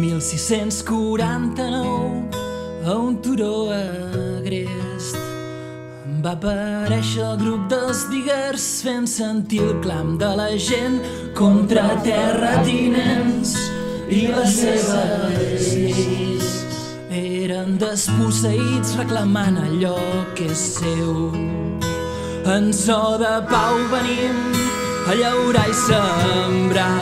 1649, a un turó agrest, va aparèixer el grup dels diguers fent sentir el clam de la gent contra terratinents i les seves lleis. Eren desposseïts reclamant allò que és seu. En so de pau venim a llaurar i sembrar,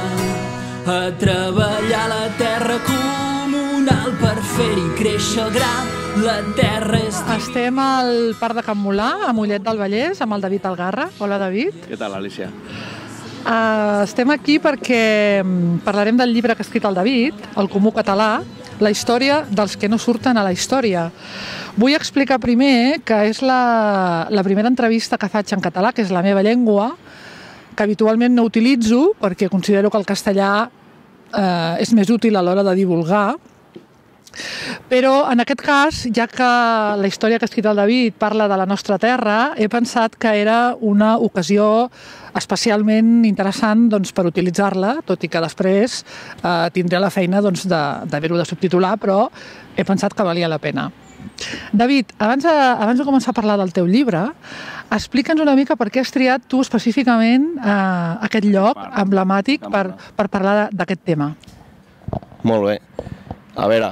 a treballar la terra comunal per fer-hi créixer el gra. La terra és... Estem al Parc de Can Mulà, a Mollet del Vallès, amb el David Algarra. Hola, David. Què tal, Alicia? Estem aquí perquè parlarem del llibre que ha escrit el David, El Comú Català, la història dels que no surten a la història. Vull explicar primer que és la primera entrevista que faig en català, que és la meva llengua, que habitualment no utilitzo perquè considero que el castellà és més útil a l'hora de divulgar. Però en aquest cas, ja que la història que ha escrit el David parla de la nostra terra, he pensat que era una ocasió especialment interessant per utilitzar-la, tot i que després tindré la feina d'haver-ho de subtitular, però he pensat que valia la pena. David, abans de començar a parlar del teu llibre, explica'ns una mica per què has triat tu específicament aquest lloc emblemàtic per parlar d'aquest tema. Molt bé. A veure,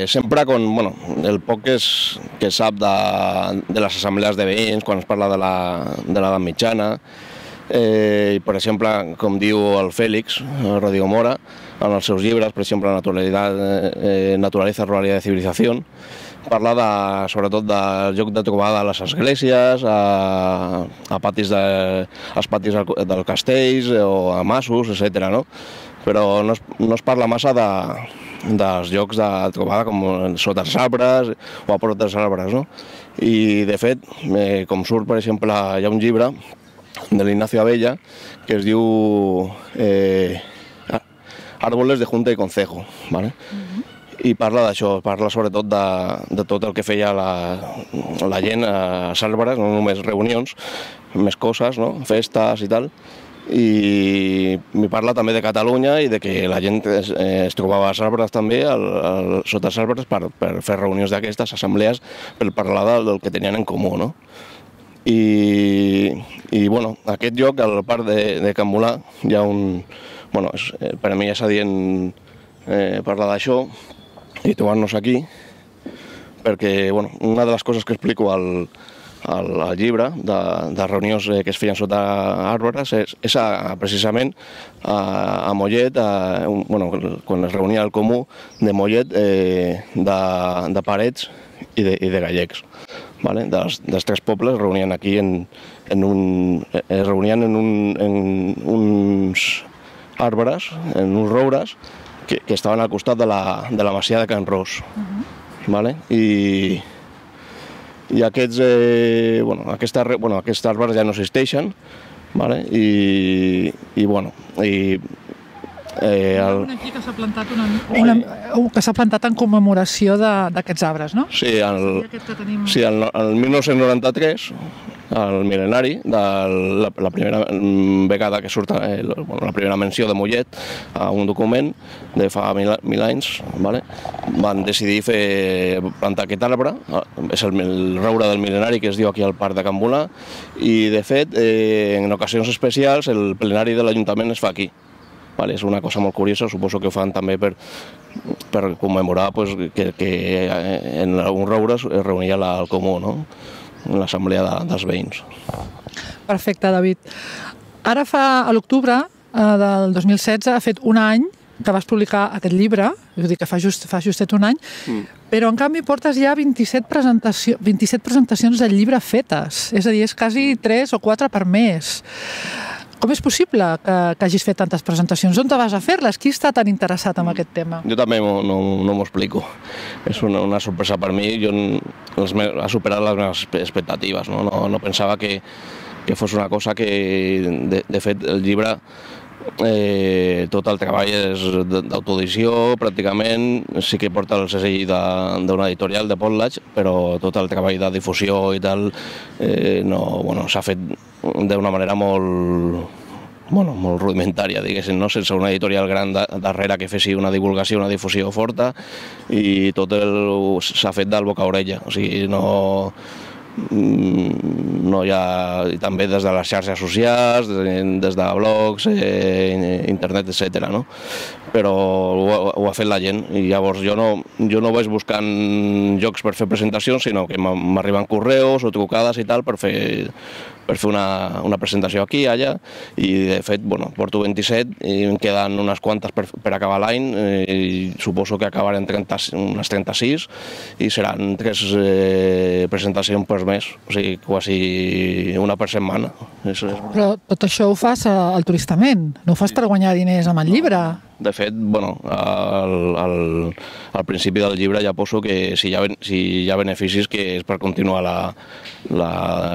sempre el poc que es sap de les assemblees de veïns, quan es parla de l'edat mitjana, i per exemple, com diu el Fèlix, Rodrigo Mora, en els seus llibres, per exemple, Naturaleza, Ruralidad y Civilización, parla sobretot del lloc de trobada a les esglésies, als patis dels castells o a masos, etc. Però no es parla massa dels llocs de trobada com sota els arbres o a prop dels arbres. I, de fet, com surt, per exemple, hi ha un llibre de l'Ignacio Abella que es diu Árboles de Junta y Concejo, ¿vale? I parla d'això, parla sobretot de tot el que feia la gent als arbres, no només reunions, més coses, festes i tal. I m'hi parla també de Catalunya i de que la gent es trobava als arbres també, sota els arbres, per fer reunions d'aquestes, assemblees, per parlar del que tenien en comú. I aquest lloc, al parc de Can Mulà, hi ha un... Per a mi és adient parlar d'això i trobar-nos aquí, perquè una de les coses que explico al llibre, de reunions que es feien sota arbres, és precisament a Mollet, quan es reunia el comú de Mollet, de Parets i de Gallecs. Dels tres pobles es reunien aquí en uns arbres, en uns roures, que estaven al costat de la masia de Can Ros. I aquests arbres ja no existeixen, que s'ha plantat en commemoració d'aquests arbres, no? Sí, el 1993, el mil·lenari, la primera vegada que surt la primera menció de Mollet a un document de fa 1000 anys, van decidir plantar aquest arbre, és el roure del mil·lenari que es diu aquí al Parc de Can Mulà, i de fet, en ocasions especials, el plenari de l'Ajuntament es fa aquí. És una cosa molt curiosa, suposo que ho fan també per commemorar que en un roure es reunia el comú, l'assemblea dels veïns. Perfecte, David. Ara a l'octubre del 2016 ha fet un any que vas publicar aquest llibre, és a dir, que fa justet un any, però en canvi portes ja 27 presentacions del llibre fetes, és a dir, és quasi 3 o 4 per mes. Com és possible que hagis fet tantes presentacions? On te vas a fer-les? Qui està tan interessat en aquest tema? Jo també no m'ho explico. És una sorpresa per mi. Ha superat les meves expectatives. No pensava que fos una cosa que, de fet, el llibre, tot el treball és d'autoedició, pràcticament. Sí que porta el segell d'una editorial, de Potlatch, però tot el treball de difusió i tal s'ha fet d'una manera molt molt rudimentària, diguéssim, no? Sense una editorial gran darrere que fessi una divulgació, una difusió forta, i tot s'ha fet del boca a orella, o sigui, no hi ha, també des de les xarxes socials, des de blogs, internet, etc. No? Però ho ha fet la gent, i llavors jo no vaig buscant llocs per fer presentacions, sinó que m'arriben correus o trucades i tal per fer una presentació aquí, allà, i de fet, porto 27 i em queden unes quantes per acabar l'any, i suposo que acabarem unes 36 i seran 3 presentacions per mes, o sigui, quasi una per setmana. Però tot això ho fas altruistament, no ho fas per guanyar diners amb el llibre? De fet, al principi del llibre ja poso que si hi ha beneficis que és per continuar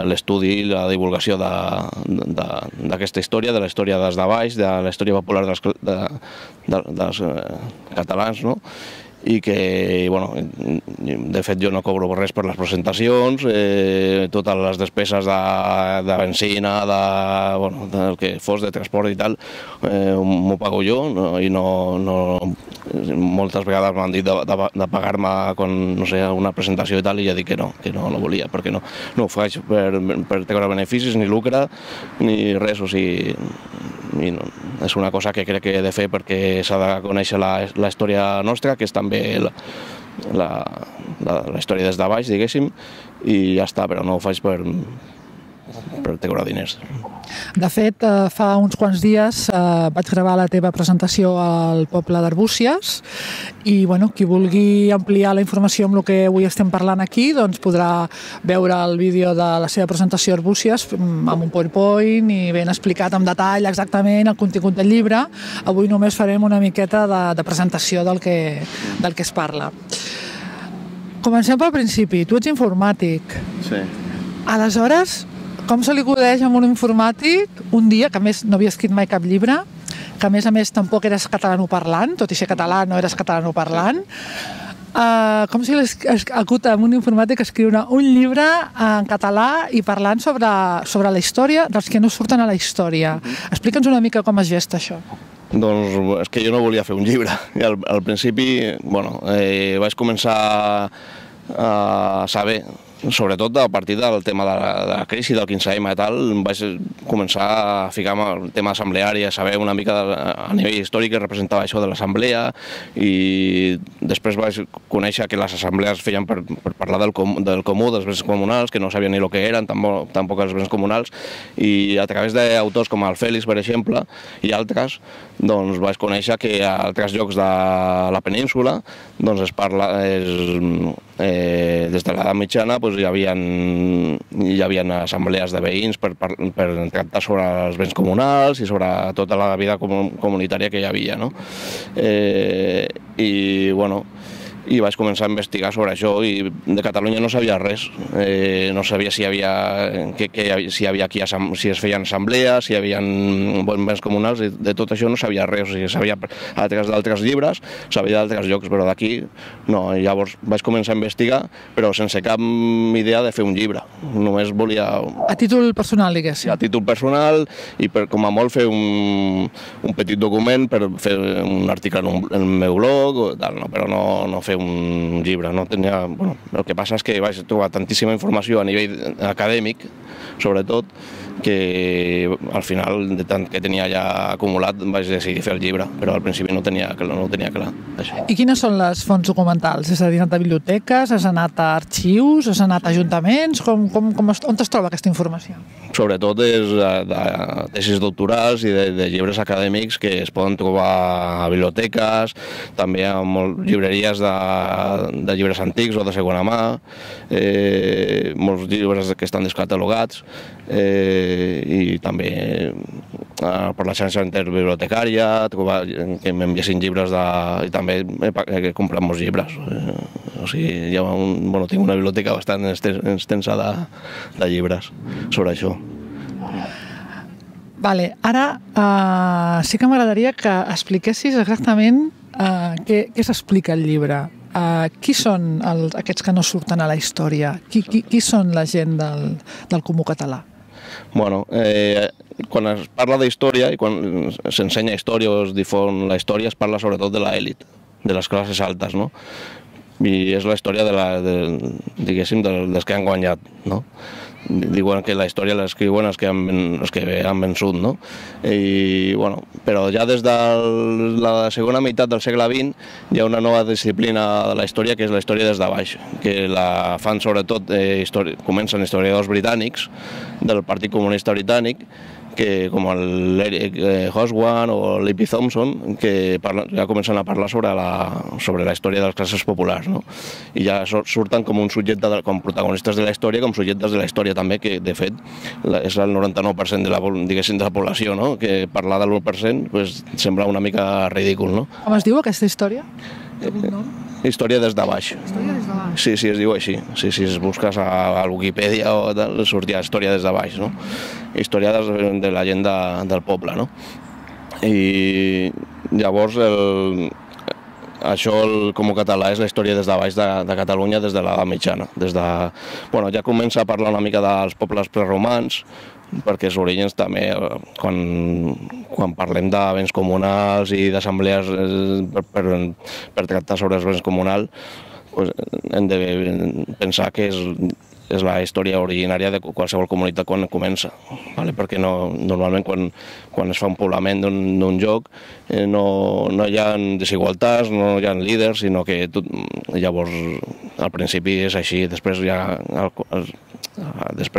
l'estudi i la divulgació d'aquesta història, de la història des de baix, de la història popular dels catalans, no? I que, de fet jo no cobro res per les presentacions, totes les despeses de benzina, del que fos, de transport i tal, m'ho pago jo, i moltes vegades m'han dit de pagar-me una presentació i tal, i ja dic que no volia, perquè no ho faig per treure beneficis, ni lucre, ni res, o sigui, és una cosa que crec que he de fer perquè s'ha de conèixer la història nostra, que és també la història des de baix, diguéssim, i ja està, però no ho faig per treure diners. De fet, fa uns quants dies vaig gravar la teva presentació al poble d'Arbúcies i qui vulgui ampliar la informació amb el que avui estem parlant aquí doncs podrà veure el vídeo de la seva presentació a Arbúcies amb un PowerPoint i ben explicat en detall exactament el contingut del llibre. Avui només farem una miqueta de presentació del que es parla. Comencem pel principi. Tu ets informàtic. Sí. Aleshores, com se li acudeix a un informàtic un dia, que a més no havia escrit mai cap llibre, que a més tampoc eres catalanoparlant, tot i ser català no eres catalanoparlant, com se li acut a un informàtic escriure un llibre en català i parlant sobre la història dels que no surten a la història? Explica'ns una mica com es gesta això. Doncs és que jo no volia fer un llibre. Al principi, vaig començar a saber, sobretot a partir del tema de la crisi del 15M i tal, vaig començar a ficar-me el tema assembleari, a saber una mica a nivell històric que representava això de l'assemblea, i després vaig conèixer que les assemblees feien per parlar del comú, dels béns comunals, que no sabien ni el que eren, tampoc els béns comunals, i a través d'autors com el Fèlix, per exemple, i altres, doncs vaig conèixer que a altres llocs de la península doncs es parla, des de l'edat mitjana hi havia assemblees de veïns per tractar sobre els béns comunals i sobre tota la vida comunitària que hi havia, no? I vaig començar a investigar sobre això, i de Catalunya no sabia res, no sabia si es feien assemblees, si hi havia béns comunals, i de tot això no sabia res, o sigui, sabia d'altres llibres, sabia d'altres llocs, però d'aquí no. Llavors vaig començar a investigar, però sense cap idea de fer un llibre, només volia... A títol personal, diguéssim. A títol personal, i com a molt fer un petit document per fer un article en el meu blog, però no fer un llibre. El que passa és que vaig trobar tantíssima informació a nivell acadèmic, sobretot, que al final, de tant que tenia ja acumulat, vaig decidir fer el llibre, però al principi no ho tenia clar. I quines són les fonts documentals? És a dir, has anat a biblioteques, has anat a arxius, has anat a ajuntaments? On es troba aquesta informació? Sobretot és de tesis doctorals i de llibres acadèmics que es poden trobar a biblioteques, també a llibreries de llibres antics o de segona mà, molts llibres que estan descatalogats, i també per la xarxa interbibliotecària, que m'enviessin llibres i també he comprat molts llibres. O sigui, tinc una biblioteca bastant extensa de llibres sobre això. Vale, ara sí que m'agradaria que expliquessis exactament què s'explica al llibre. Qui són aquests que no surten a la història? Qui són la gent del comú català? Bueno, quan es parla d'història i quan s'ensenya història o es difon la història, es parla sobretot de l'elit, de les classes altes, no? I és la història diguéssim, dels que han guanyat, no? Diuen que la història l'escriuen els que han vençut, no? I, bueno, però ja des de la segona meitat del segle XX hi ha una nova disciplina de la història, que és la història des de baix, que la fan sobretot, comencen historiadors britànics del Partit Comunista Britànic, com l'Eric Hobsbawm o l'E.P. Thompson, que ja comencen a parlar sobre la història de les classes populars, no? I ja surten com un subjecte, com protagonistes de la història, com subjectes de la història també, que de fet és el 99% de la població, no? Que parlar de l'1% sembla una mica ridícul, no? Com es diu aquesta història? Història des de baix. Sí, es diu així. Sí, si es busques a Wikipedia o tal, sortia història des de baix, no? Història de la gent del poble, no? I llavors això el Comú Català és la història des de baix de Catalunya des de l'edat mitjana. Bueno, ja comença a parlar una mica dels pobles preromans, perquè els orígens també, quan parlem de béns comunals i d'assemblees per tractar sobre els béns comunals, hem de pensar que és la història originària de qualsevol comunitat quan comença, perquè normalment quan es fa un poblament d'un lloc no hi ha desigualtats, no hi ha líders, sinó que llavors al principi és així, després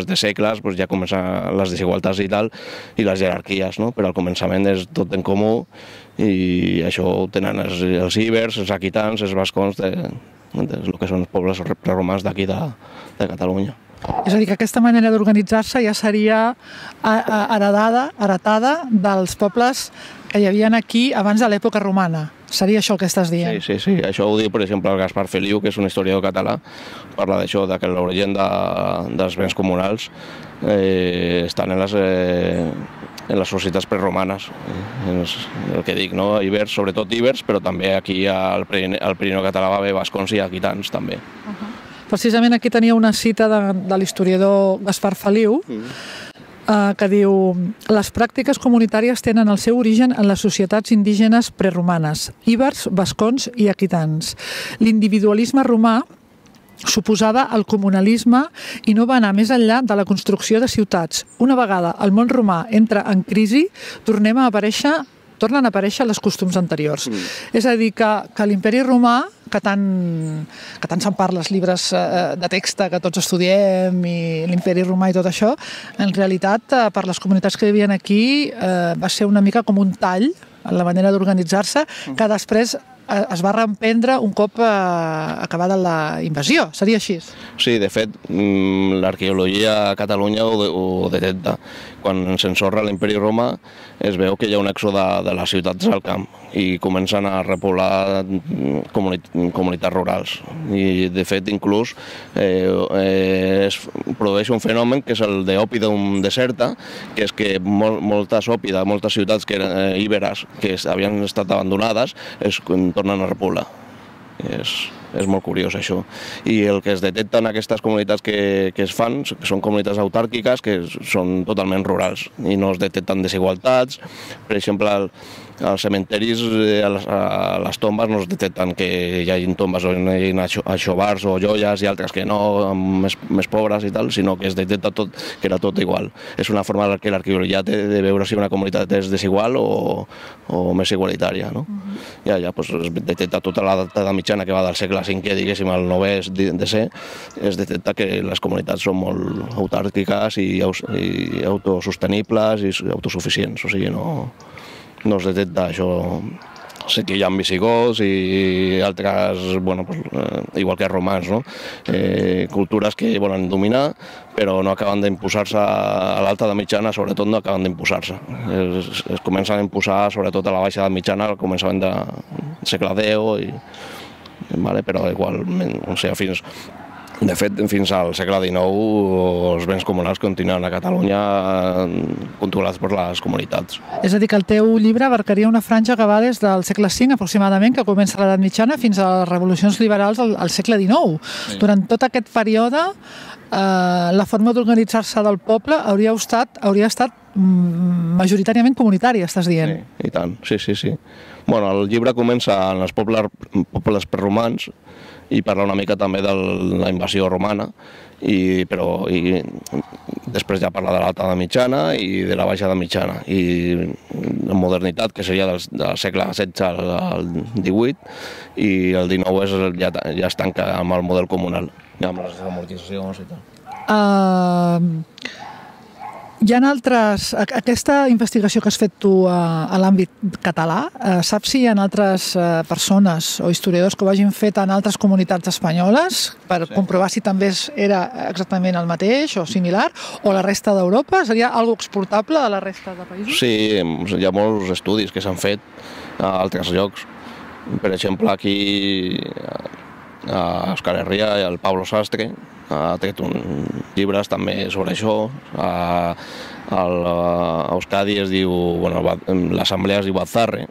de segles ja comencen les desigualtats i tal, i les jerarquies, però al començament és tot en comú i això ho tenen els ibers, els aquitans, els bascons, el que són els pobles preromans d'aquí de Catalunya. És a dir, que aquesta manera d'organitzar-se ja seria heretada dels pobles que hi havia aquí abans de l'època romana. Seria això el que estàs dient? Sí. Això ho diu, per exemple, el Gaspar Feliu, que és un historiador català. Parla d'això, que l'origen dels béns comunals estan en les societats preromanes. El que dic, no? Ibers, sobretot ibers, però també aquí al Pirineu català va haver bascons i aquitans, també. Precisament aquí tenia una cita de l'historiador Gaspar Feliu, que diu: les pràctiques comunitàries tenen el seu origen en les societats indígenes preromanes, ibers, bascons i aquitans. L'individualisme romà suposava el comunalisme i no va anar més enllà de la construcció de ciutats. Una vegada el món romà entra en crisi, tornen a aparèixer les costums anteriors. És a dir, que l'imperi romà, que tant se'n parla als llibres de text que tots estudiem, i l'imperi romà i tot això, en realitat, per les comunitats que vivien aquí, va ser una mica com un tall en la manera d'organitzar-se, que després es va reemprendre un cop acabada la invasió. Seria així? Sí, de fet, l'arqueologia a Catalunya ho detecta. Quan s'ensorra l'imperi romà es veu que hi ha un èxode de les ciutats al camp i comencen a repoblar comunitats rurals. I, de fet, inclús es produeix un fenomen que és el d'òpidum deserta, que és que moltes ciutats que eren íberes, que havien estat abandonades, es tornen a repoblar. És molt curiós això. I el que es detecta en aquestes comunitats que es fan són comunitats autàrquiques que són totalment rurals i no es detecten desigualtats. Per exemple, als cementeris, a les tombes, no es detecten que hi hagi tombes on hi hagi aixovars o joies i altres que no, més pobres i tal, sinó que es detecta tot, que era tot igual. És una forma que l'arqueologia té de veure si una comunitat és desigual o més igualitària, no? Ja es detecta tota l'edat mitjana que va del segle V, diguéssim, al 9è DC, es detecta que les comunitats són molt autàrquiques i autosostenibles i autosuficients, o sigui, no es detecta això. Sí que hi ha visigots i altres, igual que romans, no? Cultures que volen dominar, però no acaben d'imposar-se a l'alta edat mitjana, sobretot no acaben d'imposar-se. Es comencen a imposar sobretot a la baixa edat mitjana, al començament del segle X, però igualment, fins De fet, fins al segle XIX els béns comunals continuen a Catalunya controlats per les comunitats. És a dir, que el teu llibre abarcaria una franja que va des del segle V aproximadament, que comença a l'edat mitjana, fins a les revolucions liberals al segle XIX. Sí. Durant tot aquest període, la forma d'organitzar-se del poble hauria estat majoritàriament comunitària, estàs dient. Sí, i tant, sí. Bueno, el llibre comença en els pobles preromans i parla una mica també de la invasió romana, però després ja parla de l'alta edat mitjana i de la baixa edat mitjana, i la modernitat, que seria del segle XVI al XVIII, i el XIX ja es tanca amb el model comunal, ja amb les amortitzacions i tal. Hi ha altres... Aquesta investigació que has fet tu a l'àmbit català, saps si hi ha altres persones o historiadors que ho hagin fet en altres comunitats espanyoles per comprovar si també era exactament el mateix o similar, o la resta d'Europa? Seria algo exportable a la resta de països? Sí, hi ha molts estudis que s'han fet a altres llocs. Per exemple, aquí a Euskal Herria, el Pablo Sastre ha tret llibres també sobre això. A Euskadi es diu, l'assemblea es diu Atzarre,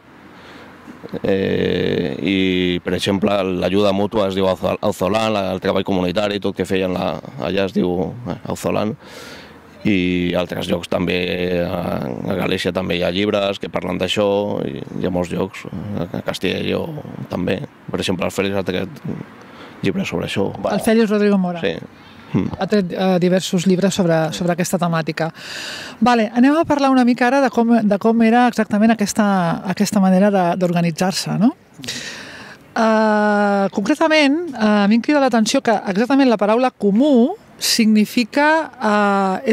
i per exemple l'ajuda mútua es diu Auzolan, el treball comunitari, tot que feien allà es diu Auzolan, i a altres llocs també, a Galícia també hi ha llibres que parlen d'això, i hi ha molts llocs, a Castilla i Lleó també, per exemple el Félix ha tret llibres sobre això. El Félix Rodrigo Mora. Sí. Ha tret diversos llibres sobre aquesta temàtica. Vale, anem a parlar una mica ara de com era exactament aquesta manera d'organitzar-se, no? Concretament, a mi em crida l'atenció que exactament la paraula comú és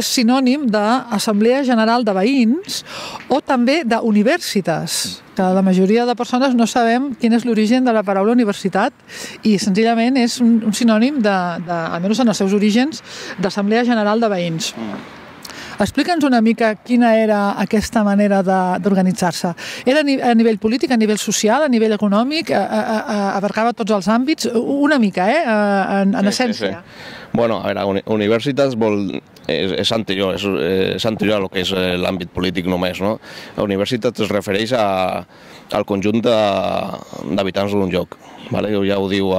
sinònim d'Assemblea General de Veïns o també d'universitas, que la majoria de persones no sabem quin és l'origen de la paraula universitat, i senzillament és un sinònim, almenys en els seus orígens, d'Assemblea General de Veïns. Explica'ns una mica quina era aquesta manera d'organitzar-se. Era a nivell polític, a nivell social, a nivell econòmic, abarcava tots els àmbits? Una mica, en essència. Bueno, a veure, universitats és anterior a lo que és l'àmbit polític només, no? La universitat es refereix al conjunt d'habitants d'un lloc. Ja ho diu,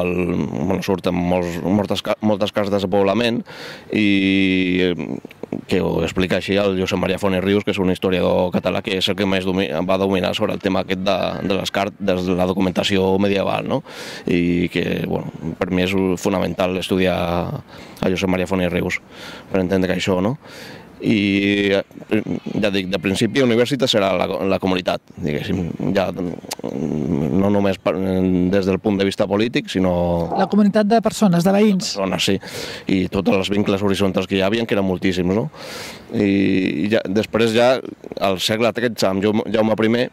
surten moltes cartes de poblament, i que ho explica així el Josep Maria Font i Rius, que és un historiador català que és el que més va dominar sobre el tema aquest de la documentació medieval, i que per mi és fonamental estudiar a Josep Maria Font i Rius per entendre això, no? I ja dic, de principi universitat serà la comunitat, diguéssim, ja no només des del punt de vista polític, sinó... La comunitat de persones, de veïns. De persones, sí, i tots els vincles horitzontals que hi havia, que eren moltíssims, no? I després ja, al segle XIII, amb Jaume I,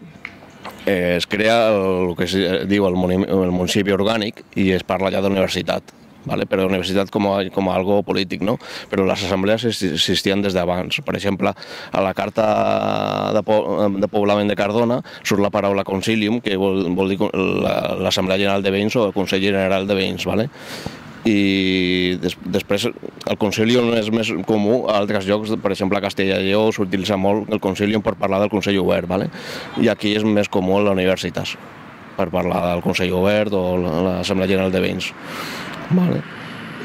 es crea el que es diu el municipi orgànic, i es parla ja d'universitat. Però la universitat com a algo polític, no? Però les assemblees existien des d'abans. Per exemple, a la carta de poblament de Cardona surt la paraula concilium, que vol dir l'Assemblea General de Veïns o el Consell General de Veïns. I després el concilium és més comú a altres llocs, per exemple a Castella i Lleó s'utilitza molt el concilium per parlar del Consell Obert, i aquí és més comú a la universitat per parlar del Consell Obert o l'Assemblea General de Veïns.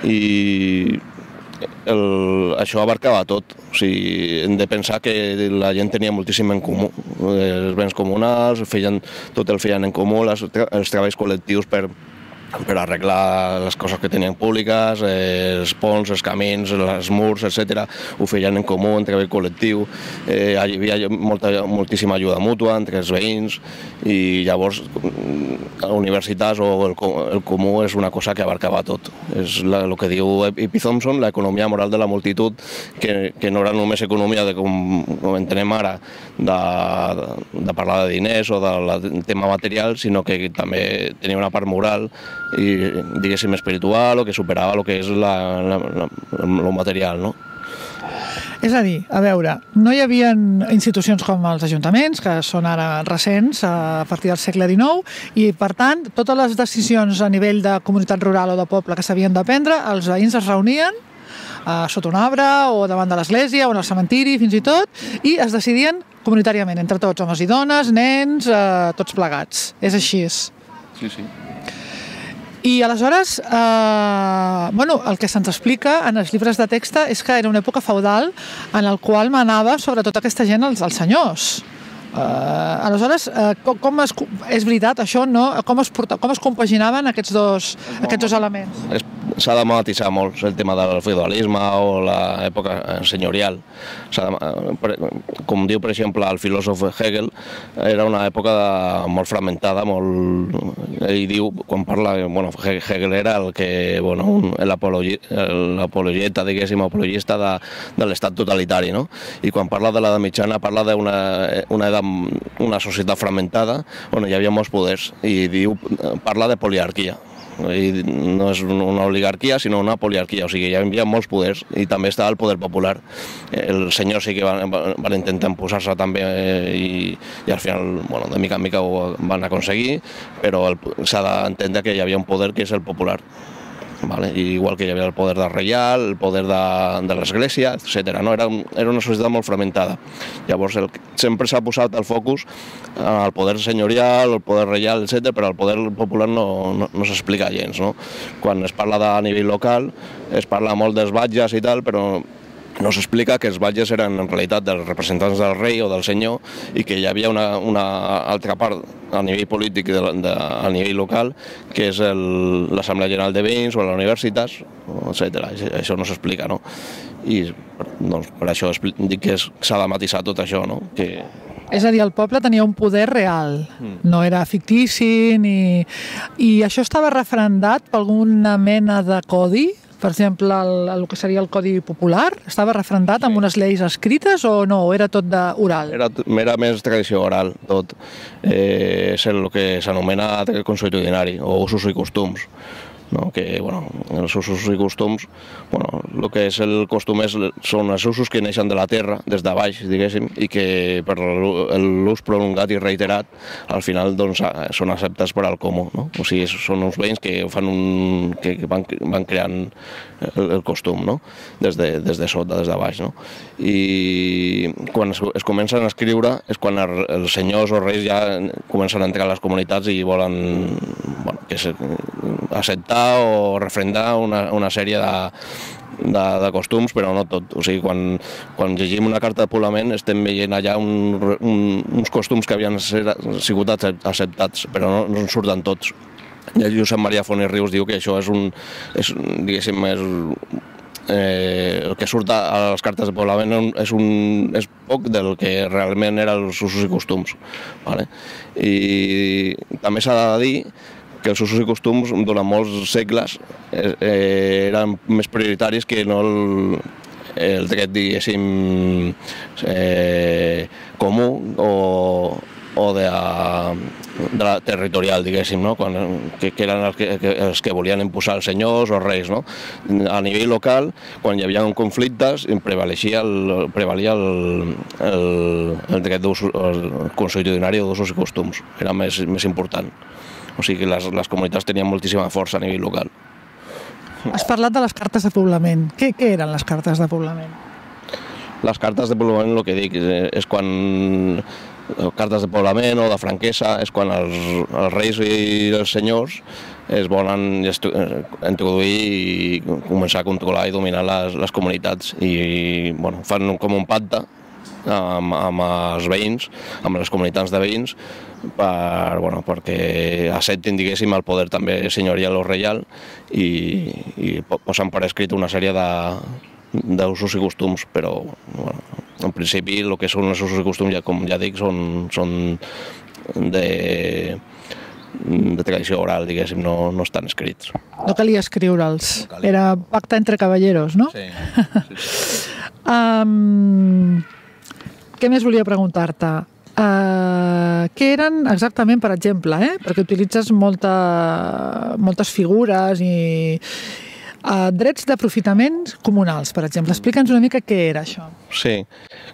I això abarcava tot. Hem de pensar que la gent tenia moltíssim en comú. Els béns comunals, tot el feien en comú, els treballs col·lectius per arreglar les coses que tenien públiques, els ponts, els camins, els murs, etc. Ho feien en comú, en treball col·lectiu. Hi havia moltíssima ajuda mútua entre els veïns, i llavors universitats o el comú és una cosa que abarcava tot. És el que diu E.P. Thompson, l'economia moral de la multitud, que no era només economia, com entenem ara, de parlar de diners o del tema material, sinó que també tenia una part moral i, diguéssim, espiritual, o que superava el que és lo material, no? És a dir, a veure, no hi havia institucions com els ajuntaments, que són ara recents, a partir del segle XIX, i per tant, totes les decisions a nivell de comunitat rural o de poble que s'havien de prendre, els veïns es reunien sota un arbre o davant de l'església o en el cementiri, fins i tot, i es decidien comunitàriament, entre tots, homes i dones, nens, tots plegats. És així. Sí, sí. I aleshores, el que se'ns explica en els llibres de text és que era una època feudal en el qual manava sobre tota aquesta gent els senyors. Aleshores, és veritat això, no? Com es compaginaven aquests dos elements? S'ha de matisar molt el tema del feudalisme o l'època senyorial. Com diu, per exemple, el filòsof Hegel, era una època molt fragmentada, ell diu, quan parla, Hegel era l'apologeta, diguéssim, apologista de l'estat totalitari, no? I quan parla de l'edat mitjana, parla d'una societat fragmentada on hi havia molts poders i parla de poliarquia. I no és una oligarquia sinó una poliarquia, o sigui, hi havia molts poders i també estava el poder popular. Els senyors sí que van intentar posar-se també i al final, de mica en mica ho van aconseguir, però s'ha d'entendre que hi havia un poder que és el popular. Igual que hi havia el poder del reial, el poder de l'església, etc. Era una societat molt fragmentada. Llavors sempre s'ha posat el focus al poder senyorial, al poder reial, etc., però el poder popular no s'explica gens. Quan es parla a nivell local, es parla molt dels batges i tal, però no s'explica que els batges eren en realitat els representants del rei o del senyor i que hi havia una altra part a nivell polític, a nivell local, que és l'Assemblea General de Veïns o les universitats, etc. Això no s'explica, no? I per això dic que s'ha de matisar tot això, no? És a dir, el poble tenia un poder real, no era fictici, i això estava refrendat per alguna mena de codi? Per exemple, el que seria el Codi Popular, estava refrendat amb unes lleis escrites o no? O era tot oral? Era més tradició oral, tot. És el que s'anomena consuetudinari o usos i costums. Que, els usos i costums, el que és el costum són els usos que neixen de la terra, des de baix, diguéssim, i que per l'ús prolongat i reiterat, al final són acceptats per al comú. O sigui, són uns veïns que van creant el costum, des de sota, des de baix. I quan es comencen a escriure és quan els senyors o reis ja comencen a entrar a les comunitats i volen acceptar o refrendar una sèrie de costums, però no tot. O sigui, quan llegim una carta de poblament estem veient allà uns costums que havien sigut acceptats, però no en surten tots. I el Josep Maria Font i Rius diu que això és el que surt a les cartes de poblament és poc del que realment eren els usos i costums. I també s'ha de dir que els usos i costums durant molts segles eren més prioritaris que no el dret, diguéssim, comú o de la territorial, diguéssim, que eren els que volien imposar els senyors o reis. A nivell local, quan hi havia conflictes, prevalia el dret consuetudinari d'usos i costums, era més important. O sigui que les comunitats tenien moltíssima força a nivell local. Has parlat de les cartes de poblament. Què eren les cartes de poblament? Les cartes de poblament, el que dic, és quan cartes de poblament o de franquesa, és quan els reis i els senyors es volen introduir i començar a controlar i dominar les comunitats. I fan com un pacte amb els veïns, amb les comunitats de veïns, perquè acceptin, diguéssim, el poder també senyorial o reial i posen per escrit una sèrie d'usos i costums, però en principi el que són els usos i costums, com ja dic, són de tradició oral, diguéssim, no estan escrits. No calia escriure'ls, era pacte entre cavalleros, no? Sí. Què més volia preguntar-te? Què eren exactament, per exemple, perquè utilitzes moltes figures i Drets d'aprofitaments comunals, per exemple. Explica'ns una mica què era això. Sí,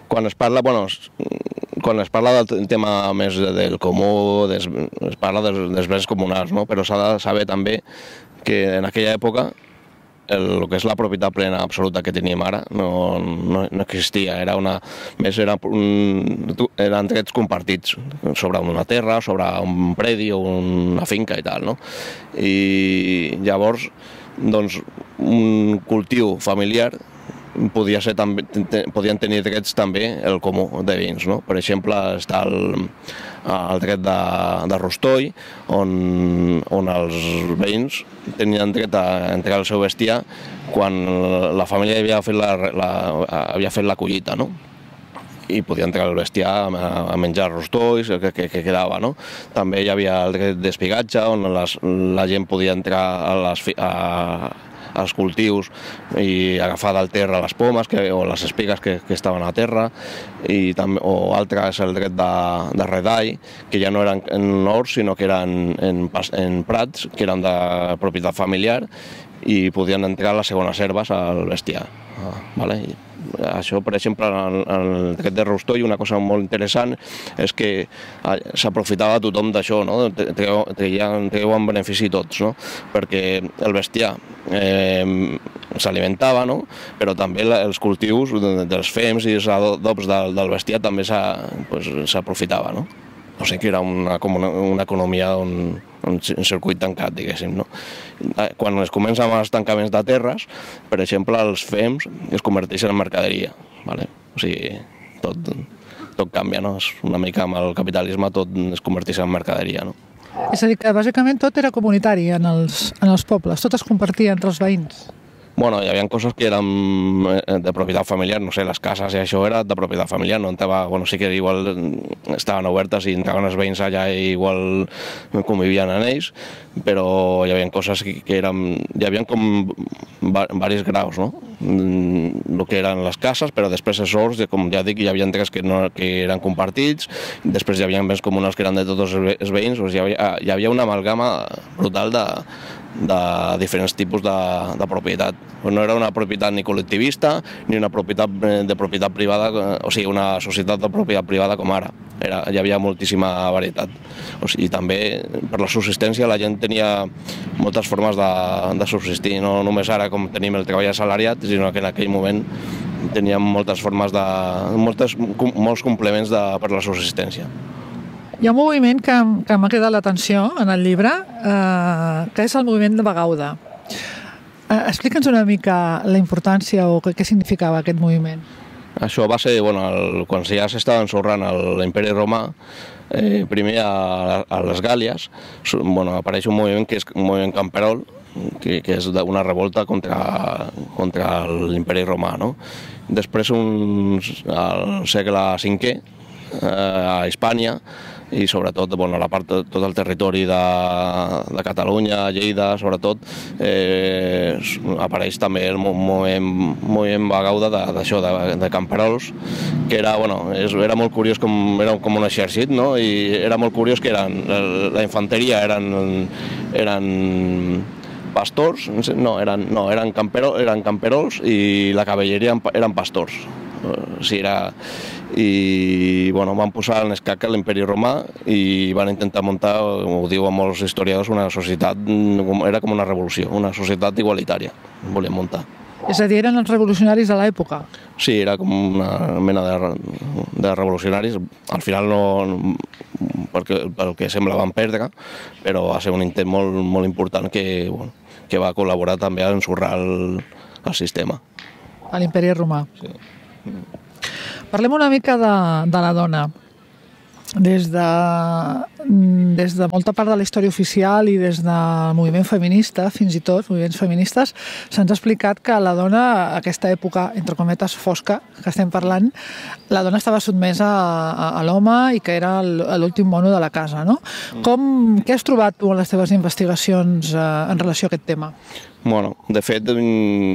quan es parla del tema més del comú, es parla dels béns comunals, no? Però s'ha de saber també que en aquella època el que és la propietat plena absoluta que tenim ara no existia, eren drets compartits sobre una terra, sobre un predi o una finca i tal, no? I llavors, doncs, un cultiu familiar podien tenir drets també el comú de veïns, no? Per exemple, està el dret de rostoll, on els veïns tenien dret a entregar el seu bestiar quan la família havia fet la collita, no? I podia entrar el bestiar a menjar rostolls que quedava, no? També hi havia el dret d'espigatge, on la gent podia entrar als cultius i agafar del terra les pomes o les espigues que estaven a terra, o altre és el dret de redall, que ja no eren en horts, sinó que eren en prats, que eren de propietat familiar i podien entrar les segones herbes al bestiar. Això, per exemple, el dret de rostoll, una cosa molt interessant és que s'aprofitava tothom d'això, no? Treuen benefici tots, no? Perquè el bestiar s'alimentava, no? Però també els cultius dels fems i els adobs del bestiar també s'aprofitava, no? O sigui que era una economia un circuit tancat, diguéssim, no? Quan es comencen els tancaments de terres, per exemple, els fems es converteixen en mercaderia, ¿vale? O sigui, tot canvia, no? Una mica amb el capitalisme tot es converteix en mercaderia, no? És a dir, que bàsicament tot era comunitari en els pobles, tot es compartia entre els veïns. Bueno, hi havia coses que eren de propietat familiar, no sé, les cases i això era de propietat familiar, no entrava, bueno, sí que igual estaven obertes i entraven els veïns allà i igual convivien en ells, però hi havia coses que eren, hi havia com diversos graus, no? El que eren les cases, però després els horts, com ja dic, hi havia tres que eren compartits, després hi havia béns comunals que eren de tots els veïns, hi havia una amalgama brutal de diferents tipus de propietat. No era una propietat ni col·lectivista ni una propietat de propietat privada, o sigui, una societat de propietat privada com ara. Hi havia moltíssima varietat. O sigui, també per la subsistència la gent tenia moltes formes de subsistir, no només ara com tenim el treball assalariat, sinó que en aquell moment teníem moltes formes molts complements per la subsistència. Hi ha un moviment que m'ha cridat l'atenció en el llibre, que és el moviment de Bagauda. Explica'ns una mica la importància o què significava aquest moviment. Això va ser, quan ja s'estava ensorrant l'imperi romà, primer a les Gàlies, apareix un moviment que és un moviment camperol, que és una revolta contra l'imperi romà, no? Després, al segle V, a Hispània, i sobretot tot el territori de Catalunya, Lleida, sobretot, apareix també el moviment Bagauda d'això, de camperols, que era molt curiós, era com un exèrcit, no? I era molt curiós que la infanteria eren pastors, eren camperols i la cavalleria eren pastors. Van posar en escac l'imperi romà i van intentar muntar, ho diuen molts historiadors, una societat, era com una revolució, una societat igualitària, volien muntar. És a dir, eren els revolucionaris de l'època? Sí, era com una mena de revolucionaris. Al final pel que sembla van perdre, però va ser un intent molt important que va col·laborar també a ensorrar el sistema. A l'imperi romà. Sí. Parlem una mica de la dona. Des de molta part de la història oficial i des del moviment feminista, fins i tot, moviments feministes, se'ns ha explicat que la dona, a aquesta època, entre cometes, fosca, que estem parlant, la dona estava sotmesa a l'home i que era l'últim mono de la casa, no? Què has trobat tu en les teves investigacions en relació a aquest tema? Bueno, de fet,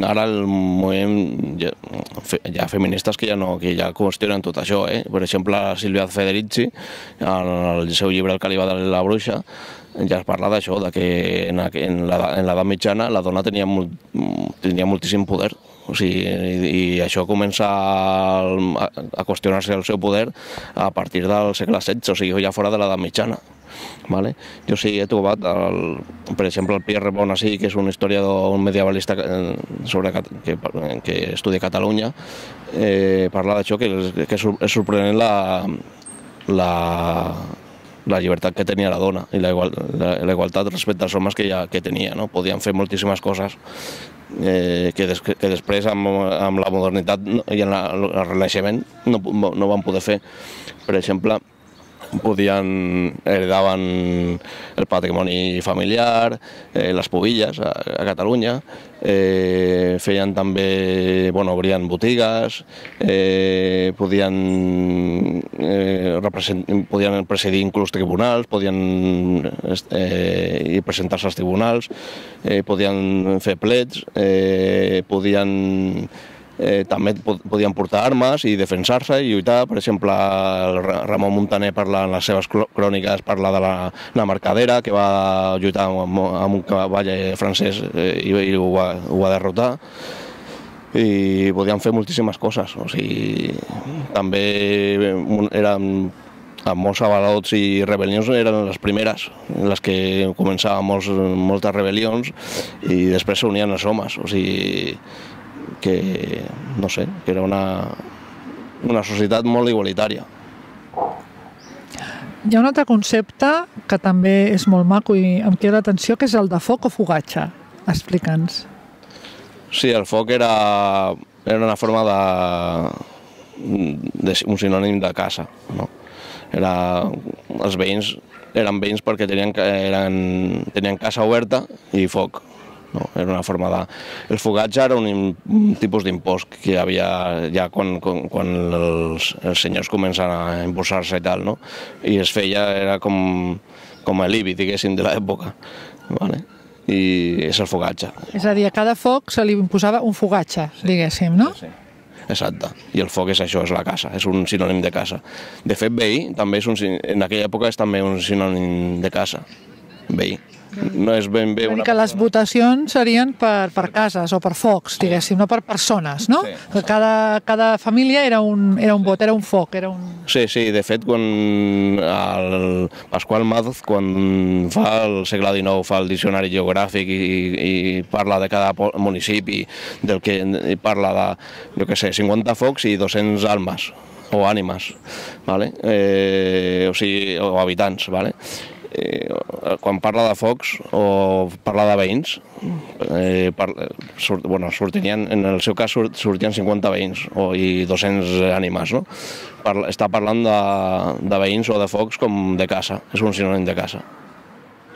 ara el moviment, hi ha feministes que ja qüestionen tot això. Per exemple, Silvia Federici, en el seu llibre El càliba de la bruixa, ja es parla d'això, que en l'edat mitjana la dona tenia moltíssim poder. I això comença a qüestionar-se el seu poder a partir del segle XVI, o sigui, ja fora de l'edat mitjana. Jo sí he trobat, per exemple, el Pierre Bonací, que és un historiador, un medievalista que estudia a Catalunya, parla d'això, que és sorprenent la llibertat que tenia la dona i la igualtat respecte als homes que tenia. Podien fer moltíssimes coses que després amb la modernitat i el Renaixement no van poder fer. Per exemple, heredaven el patrimoni familiar, les pubilles a Catalunya, feien també, obrien botigues, podien presidir inclús tribunals, podien presentar-se als tribunals, podien fer plets, també podien portar armes i defensar-se i lluitar. Per exemple, Ramon Muntaner parla en les seves cròniques, parla de la Mercadera, que va lluitar amb un cavall francès i ho va derrotar. I podien fer moltíssimes coses. També eren amb molts avalots i rebel·lions, eren les primeres en les que començaven moltes rebel·lions i després s'unien els homes. Que era una societat molt igualitària. Hi ha un altre concepte que també és molt maco i em crida l'atenció, que és el de foc o fogatge. Explica'ns. Sí, el foc era una forma un sinònim de casa. Els veïns eren veïns perquè tenien casa oberta i foc. Era una forma de... El fogatge era un tipus d'impost que hi havia ja quan els senyors comencen a impulsar-se i tal, i es feia, era com l'IBI, diguéssim, de l'època. I és el fogatge. És a dir, a cada foc se li imposava un fogatge, diguéssim, no? Sí. Exacte. I el foc és això, és la casa, és un sinònim de casa. De fet, veí, també en aquella època és també un sinònim de casa, veí. No és ben bé una... Que les votacions serien per cases o per focs, diguéssim, no per persones, no? Que cada família era un vot, era un foc, era un... Sí, de fet, quan el Pasqual Madoz, quan fa el segle XIX, fa el diccionari geogràfic i parla de cada municipi, del que parla de, jo què sé, 50 focs i 200 almes, o ànimes, o habitants, quan parla de focs o parla de veïns, en el seu cas sortien 50 veïns i 200 ànimes. Està parlant de veïns o de focs com de casa, és un sinònim de casa.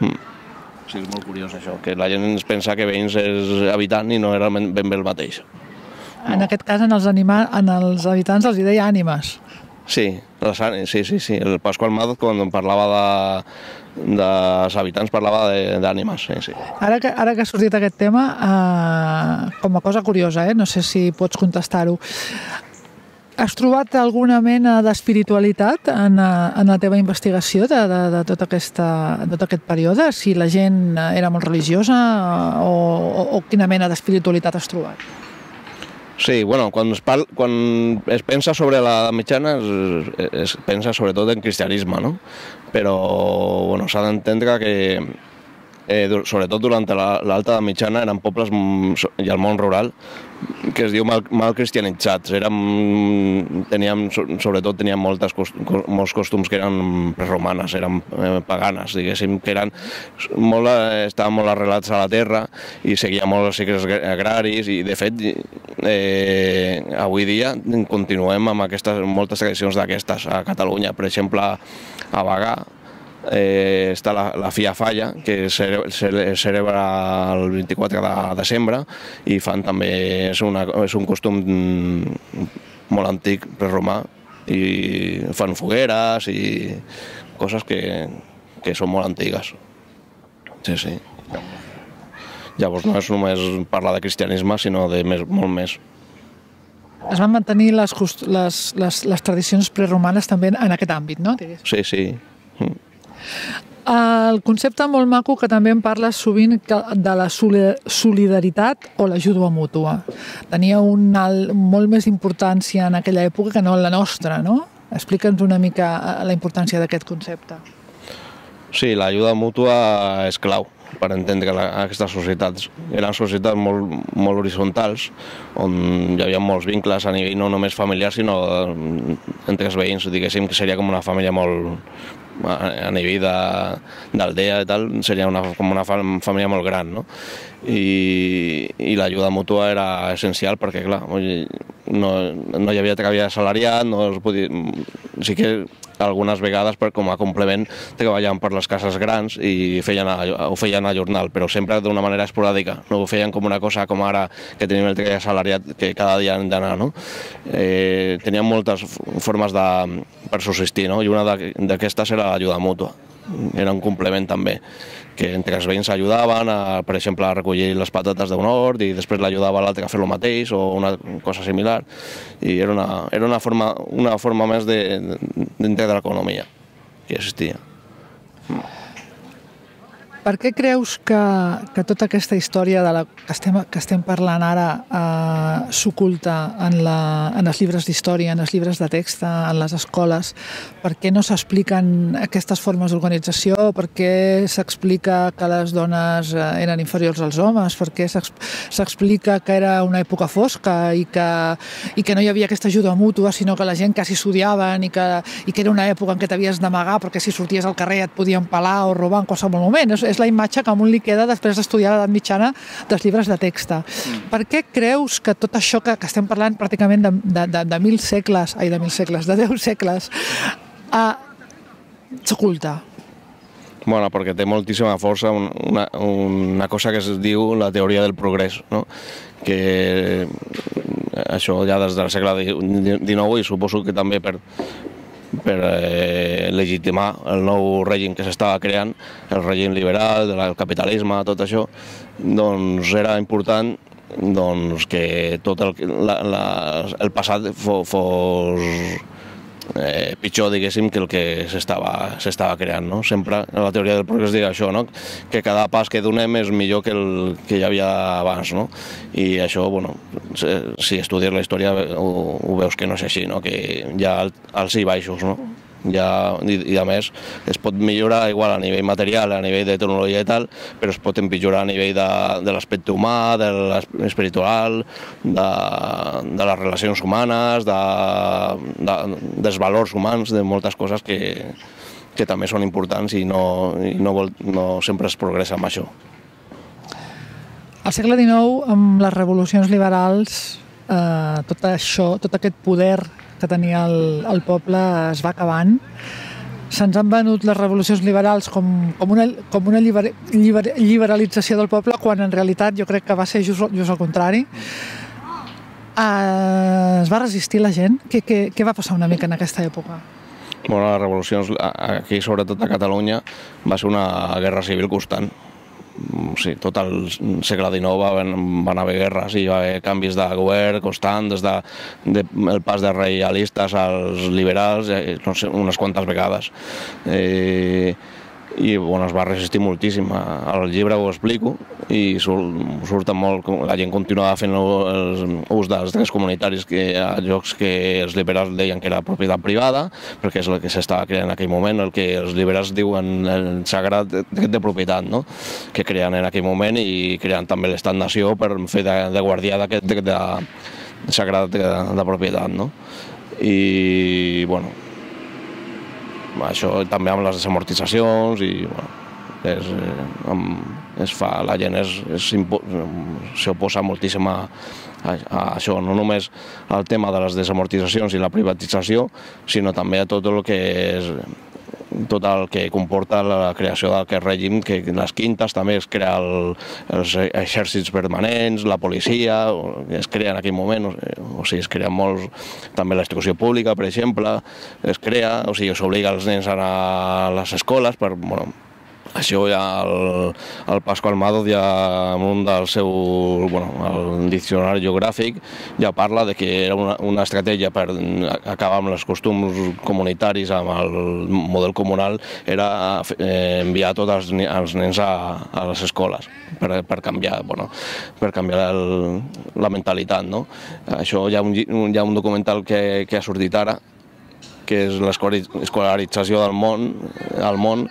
Sí, és molt curiós això, que la gent ens pensa que veïns és habitant i no era ben bé el mateix. En aquest cas, als habitants els hi deia ànimes. Sí, el Pasqual Madoz, quan parlava dels habitants, parlava d'ànimes. Ara que ha sortit aquest tema, com a cosa curiosa, no sé si pots contestar-ho, has trobat alguna mena d'espiritualitat en la teva investigació de tot aquest període? Si la gent era molt religiosa o quina mena d'espiritualitat has trobat? Sí, quan es pensa sobre l'edat mitjana es pensa sobretot en cristianisme, no? Però s'ha d'entendre que sobretot durant l'alta edat mitjana eren pobles i el món rural que es diu mal cristianitzats. Sobretot tenien molts costums que eren preromanes, eren paganes, diguéssim, que estaven molt arrelats a la terra i seguien molt els cicles agraris i, de fet, avui dia continuem amb moltes tradicions d'aquestes a Catalunya. Per exemple, a Bagà està la Fia Falla, que es celebra el 24 de desembre i fan també, és un costum molt antic, preromà, i fan fogueres i coses que són molt antigues. Sí. Llavors no és només parlar de cristianisme, sinó de molt més. Es van mantenir les tradicions preromanes també en aquest àmbit, no? Sí, sí. El concepte molt maco que també en parles sovint de la solidaritat o l'ajuda mútua. Tenia molt més importància en aquella època que no en la nostra, no? Explica'ns una mica la importància d'aquest concepte. Sí, l'ajuda mútua és clau per entendre aquestes societats. Eren societats molt horitzontals, on hi havia molts vincles a nivell no només familiar, sinó entre els veïns. Diguéssim que seria com una família a nivell d'aldea i tal, seria com una família molt gran, no? I l'ajuda mútua era essencial perquè, clar, no hi havia treball assalariat, sí que algunes vegades com a complement treballaven per les cases grans i ho feien a jornal, però sempre d'una manera esporàdica, no ho feien com una cosa com ara que tenim el treball assalariat que cada dia hem d'anar, no? Tenien moltes formes per subsistir, no? I una d'aquestes era l'ajuda mútua. Era un complement també, que entre els veïns ajudaven, per exemple, a recollir les patates d'un hort i després l'ajudava l'altre a fer el mateix o una cosa similar. I era una forma més dintre de l'economia que existia. Per què creus que tota aquesta història que estem parlant ara s'oculta en els llibres d'història, en els llibres de text, en les escoles? Per què no s'expliquen aquestes formes d'organització? Per què s'explica que les dones eren inferiors als homes? Per què s'explica que era una època fosca i que no hi havia aquesta ajuda mútua, sinó que la gent quasi s'odiaven i que era una època en què t'havies d'amagar perquè si sorties al carrer et podien pelar o robar en qualsevol moment? És la imatge que a un li queda després d'estudiar l'edat mitjana dels llibres de text. Per què creus que tot això que estem parlant pràcticament de 10 segles, de 10 segles, s'oculta? Bueno, perquè té moltíssima força una cosa que es diu la teoria del progrés, no? Que això ja des del segle XIX, i suposo que també per legitimar el nou règim que s'estava creant, el règim liberal, el capitalisme, tot això, doncs era important que tot el passat fos pitjor, diguéssim, que el que s'estava creant, no? Sempre la teoria del progrés diu això, no? Que cada pas que donem és millor que el que hi havia abans, no? I això, bueno, si estudies la història ho veus que no és així, no? Que hi ha alts i baixos, no? I a més es pot millorar igual a nivell material, a nivell de tecnologia i tal, però es pot empitjorar a nivell de l'aspecte humà, de l'espiritual, de les relacions humanes, dels valors humans, de moltes coses que també són importants i no sempre es progressa amb això. Al segle XIX, amb les revolucions liberals, tot aquest poder que tenia el poble es va acabant. Se'ns han venut les revolucions liberals com una liberalització del poble, quan en realitat jo crec que va ser just al contrari. Es va resistir la gent? Què va passar una mica en aquesta època? Bueno, les revolucions aquí, sobretot a Catalunya, va ser una guerra civil constant. Sí, tot el segle XIX van haver guerres i va haver canvis de govern constant, des del pas de reialistes als liberals, no sé, unes quantes vegades. I bueno, es va resistir moltíssim. Al llibre ho explico i surten molt, la gent continuava fent ús dels drets comunitaris a llocs que els liberals deien que era propietat privada, perquè és el que s'estava creant en aquell moment, el que els liberals diuen el sagrat dret de propietat, no? Que creen en aquell moment, i creen també l'estat-nació per fer de guardià d'aquest dret sagrat de propietat, no? I bueno, això també amb les desamortitzacions i la gent s'oposa moltíssim a això, no només al tema de les desamortitzacions i la privatització, sinó també a tot el que comporta la creació d'aquest règim, que les quintes també es crea els exèrcits permanents, la policia, es crea en aquell moment, o sigui, es crea molts, també la instrucció pública, per exemple, es crea, o sigui, s'obliga els nens a anar a les escoles Això ja el Pasqual Madoz ja en un del seu, el diccionari geogràfic ja parla de que era una estratègia per acabar amb els costums comunitaris, amb el model comunal, era enviar tots els nens a les escoles per canviar la mentalitat, no? Això hi ha un documental que ha sortit ara, que és l'escolarització del món,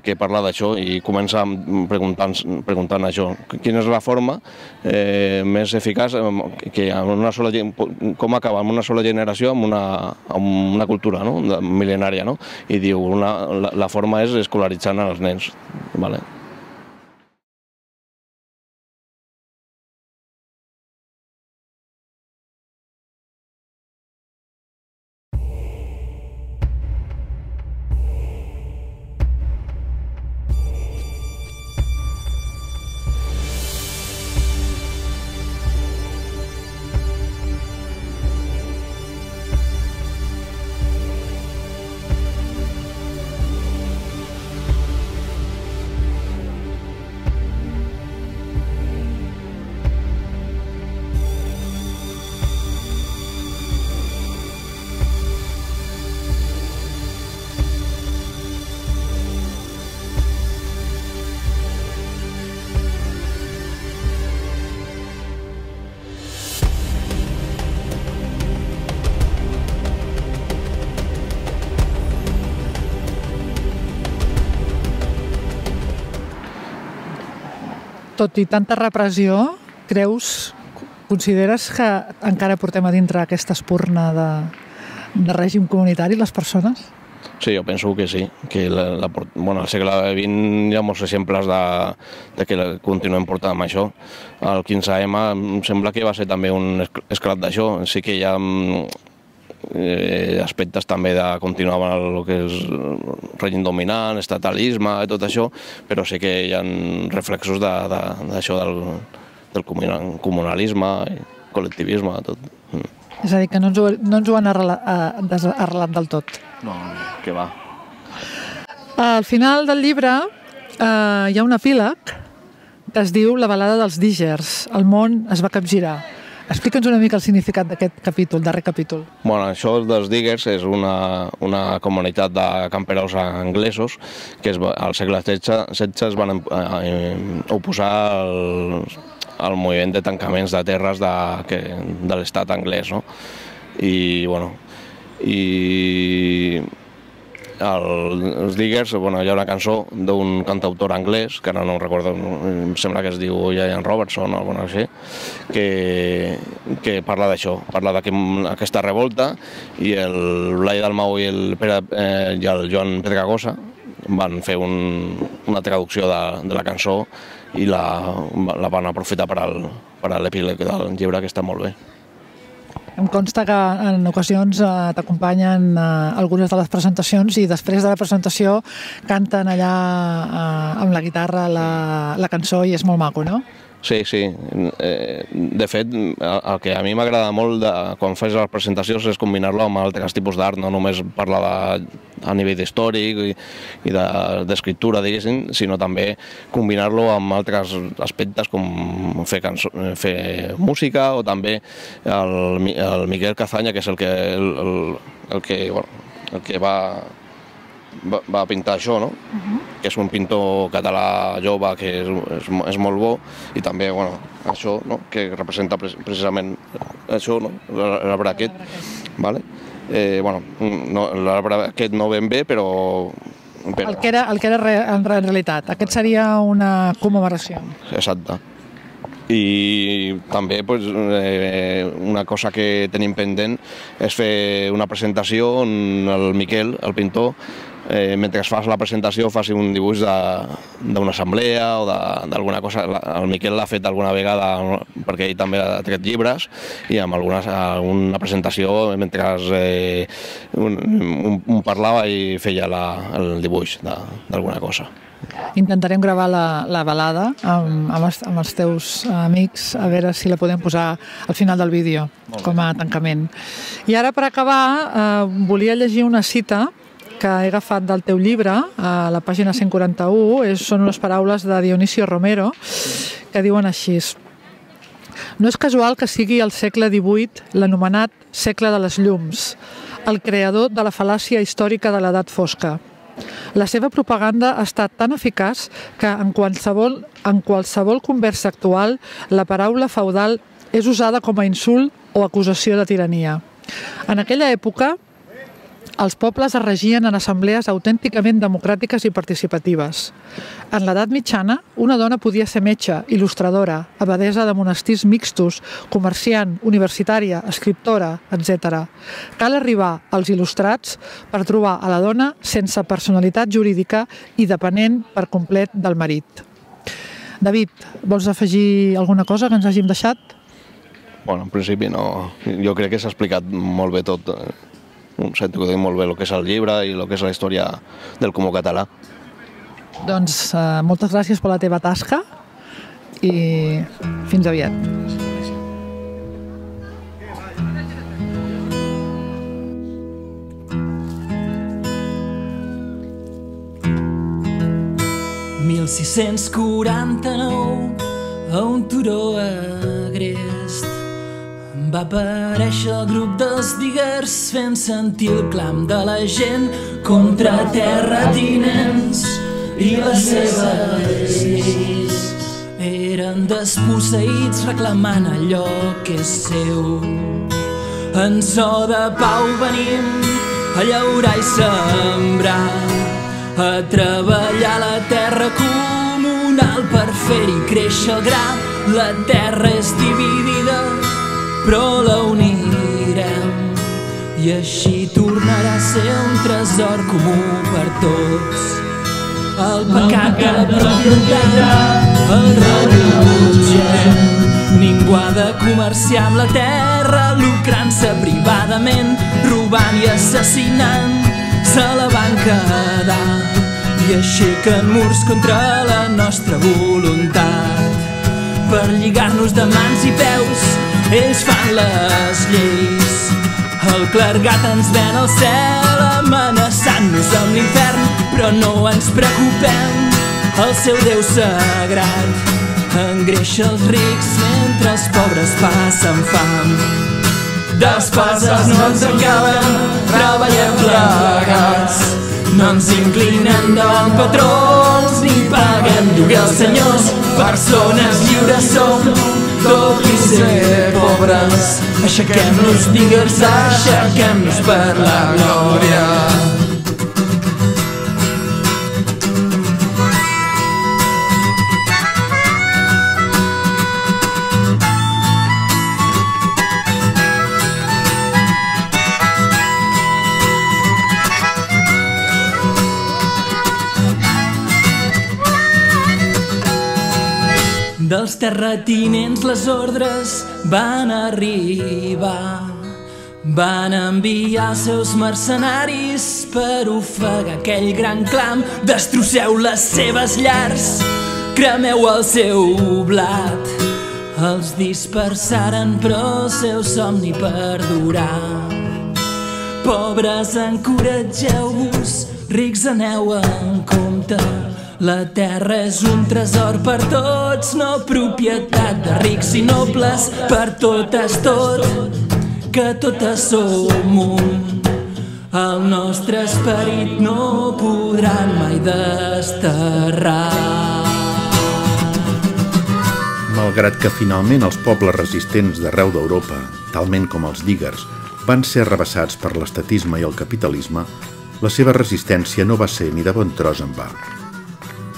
que parla d'això i comença preguntant això. Quina és la forma més eficaç com acabar amb una sola generació amb una cultura mil·lenària, no? I diu, la forma és escolaritzant els nens. Vale? Tot i tanta repressió, consideres que encara portem a dintre aquesta espurna de règim comunitari les persones? Sí, jo penso que sí, que al segle XX hi ha molts exemples de que continuem portant amb això. El 15M em sembla que va ser també un esclat d'això. Sí que hi ha aspectes també de continuar amb el que és règim dominant, estatalisme i tot això, però sí que hi ha reflexos d'això del comunalisme, col·lectivisme, tot. És a dir, que no ens ho han arrelat del tot. No, que va. Al final del llibre hi ha un epíleg que es diu La balada dels dígers. El món es va capgirar. Explica'ns una mica el significat d'aquest capítol, darrer capítol. Això dels Diggers és una comunitat de camperols anglesos que al segle XVI es van oposar al moviment de tancaments de terres de l'estat anglès, no? Els Diggers, hi ha una cançó d'un cantautor anglès, que ara no recordo, em sembla que es diu Ian Robertson o alguna cosa així, que parla d'això, parla d'aquesta revolta, i el Blai Dalmau i el Joan Pedragosa van fer una traducció de la cançó i la van aprofitar per a l'epíleg del llibre, que està molt bé. Em consta que en ocasions t'acompanyen algunes de les presentacions i després de la presentació canten allà amb la guitarra la cançó i és molt maco, no? Sí. De fet, el que a mi m'agrada molt quan fas les presentacions és combinar-lo amb altres tipus d'art, no només parlar a nivell històric i d'escriptura, diguéssim, sinó també combinar-lo amb altres aspectes com fer música, o també el Miquel Cazanya, que és el que va pintar això, no? Que és un pintor català jove que és molt bo, i també això, que representa precisament això, l'arbre aquest. L'arbre aquest no ben bé, però... El que era en realitat. Aquest seria una commemoració. Exacte. I també una cosa que tenim pendent és fer una presentació on el Miquel, el pintor, mentre fas la presentació faci un dibuix d'una assemblea o d'alguna cosa. El Miquel l'ha fet alguna vegada perquè ell també ha tret llibres, i amb alguna presentació mentre un parlava i feia el dibuix d'alguna cosa. Intentarem gravar la balada amb els teus amics, a veure si la podem posar al final del vídeo com a tancament. I ara, per acabar, volia llegir una cita que he agafat del teu llibre, a la pàgina 141, són unes paraules de Dionisio Romero, que diuen així: no és casual que sigui el segle XVIII l'anomenat segle de les llums, el creador de la fal·làcia històrica de l'edat fosca. La seva propaganda ha estat tan eficaç que en qualsevol conversa actual la paraula feudal és usada com a insult o acusació de tirania. En aquella època, els pobles es regien en assemblees autènticament democràtiques i participatives. En l'edat mitjana, una dona podia ser metge, il·lustradora, abadesa de monestirs mixtos, comerciant, universitària, escriptora, etc. Cal arribar als il·lustrats per trobar a la dona sense personalitat jurídica i depenent per complet del marit. David, vols afegir alguna cosa que ens hàgim deixat? Bueno, en principi no. Jo crec que s'ha explicat molt bé tot. Sento que dic molt bé el que és el llibre i el que és la història del comú català. Doncs moltes gràcies per la teva tasca i fins aviat. «1649, a un turó agrest, va aparèixer el grup dels diguers fent sentir el clam de la gent contra terratinents i les seves lleis. Eren desposseïts reclamant allò que és seu. En so de pau venim a llaurar i sembrar, a treballar la terra comunal per fer-hi créixer el gra. La terra és dividida, però la unirem i així tornarà a ser un tresor comú per tots. El pecat de la propietat el rebutgem. Ningú ha de comerciar amb la terra, lucrant-se privadament, robant i assassinant. Se la van quedar i aixequen murs contra la nostra voluntat. Per lligar-nos de mans i peus ells fan les lleis. El clergat ens ven al cel amenaçant-nos amb l'infern, però no ens preocupem, el seu Déu sagrat engreixa els rics mentre els pobres passen fam. D'espases no ens encaben, treballem plegats, no ens inclinem davant patrons ni paguem lloguer als senyors. Persones lliures som, tot i ser pobres. Aixequem-nos, digues, aixequem-nos per la glòria. Dels terratinents les ordres van arribar. Van enviar els seus mercenaris per ofegar aquell gran clam. Destrosseu les seves llars, cremeu el seu blat. Els dispersaren però el seu somni perdurà. Pobres, encoratgeu-vos, rics, aneu en compte. La terra és un tresor per tots, no propietat de rics i nobles. Per totes tot, que totes som un. El nostre esperit no podran mai desterrar. Malgrat que finalment els pobles resistents d'arreu d'Europa, talment com els dígars, van ser arrabassats per l'estatisme i el capitalisme, la seva resistència no va ser ni de bon tros en va.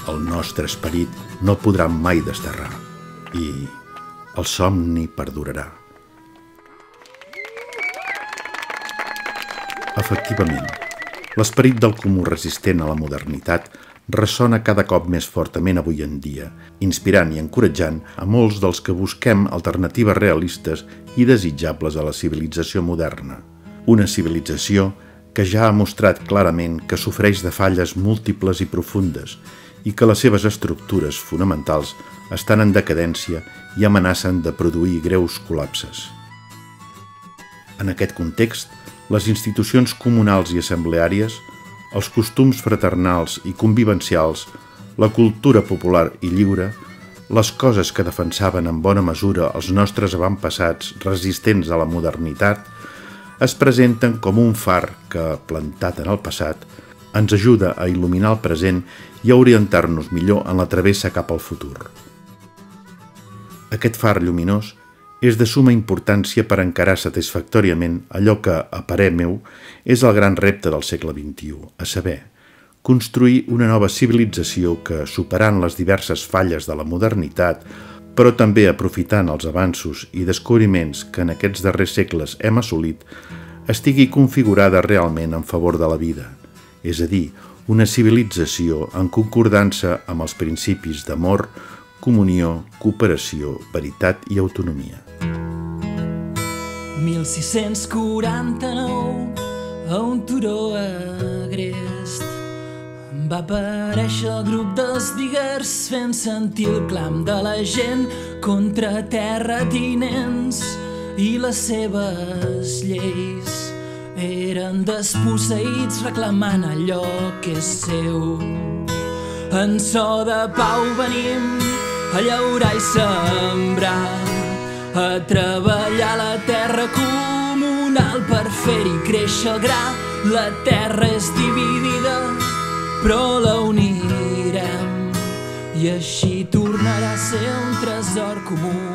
El nostre esperit no podrà mai desterrar i el somni perdurarà. Efectivament, l'esperit del comú resistent a la modernitat ressona cada cop més fortament avui en dia, inspirant i encoratjant a molts dels que busquem alternatives realistes i desitjables a la civilització moderna. Una civilització que ja ha mostrat clarament que sofreix de falles múltiples i profundes i que les seves estructures fonamentals estan en decadència i amenacen de produir greus col·lapses. En aquest context, les institucions comunals i assembleàries, els costums fraternals i convivencials, la cultura popular i lliure, les coses que defensaven en bona mesura els nostres avantpassats resistents a la modernitat, es presenten com un far que, plantat en el passat, ens ajuda a il·luminar el present i a orientar-nos millor en la travessa cap al futur. Aquest far lluminós és de suma importància per encarar satisfactòriament allò que, a parer meu, és el gran repte del segle XXI, a saber, construir una nova civilització que, superant les diverses falles de la modernitat, però també aprofitant els avanços i descobriments que en aquests darrers segles hem assolit, estigui configurada realment en favor de la vida, és a dir, una civilització en concordança amb els principis d'amor, comunió, cooperació, veritat i autonomia. 1649, a un turó agrest, va aparèixer el grup dels diguers fent sentir el clam de la gent contra terratinents i les seves lleis. Eren desposseïts reclamant allò que és seu. En so de pau venim a llaurar i sembrar, a treballar la terra comunal per fer-hi créixer el gra. La terra és dividida, però la unirem i així tornarà a ser un tresor comú.